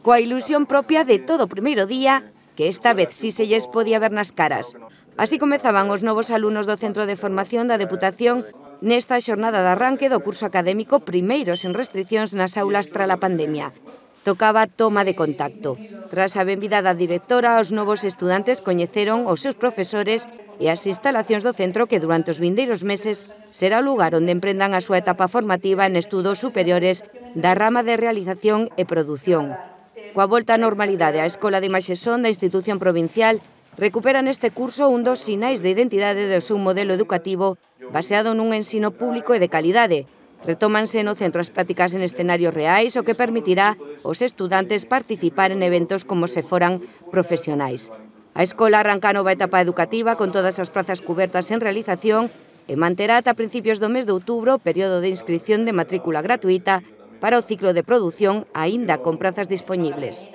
Coa ilusión propia de todo o primeiro día, que esta vez sí se lles podía ver nas caras. Así comezaban os novos alumnos do Centro de Formación da Deputación nesta xornada de arranque do curso académico primeiro sen restriccións nas aulas tras a pandemia. Tocaba toma de contacto. Tras a benvida da directora, os novos estudantes coñeceron os seus profesores e as instalacións do centro que durante os vindeiros meses será o lugar onde emprendan a súa etapa formativa en estudos superiores da rama de realización e produción. Coa volta á normalidade, a Escola de Imaxe Son da institución provincial recupera neste curso un dos sinais de identidade do seu modelo educativo baseado nun ensino público e de calidade. Retómanse no centro as prácticas en escenarios reais, o que permitirá aos estudantes participar en eventos como se foran profesionais. A escola arranca a nova etapa educativa con todas as prazas cubertas en realización e manterá ata principios do mes de outubro o período de inscripción de matrícula gratuita para o ciclo de produción aínda con prazas dispoñibles.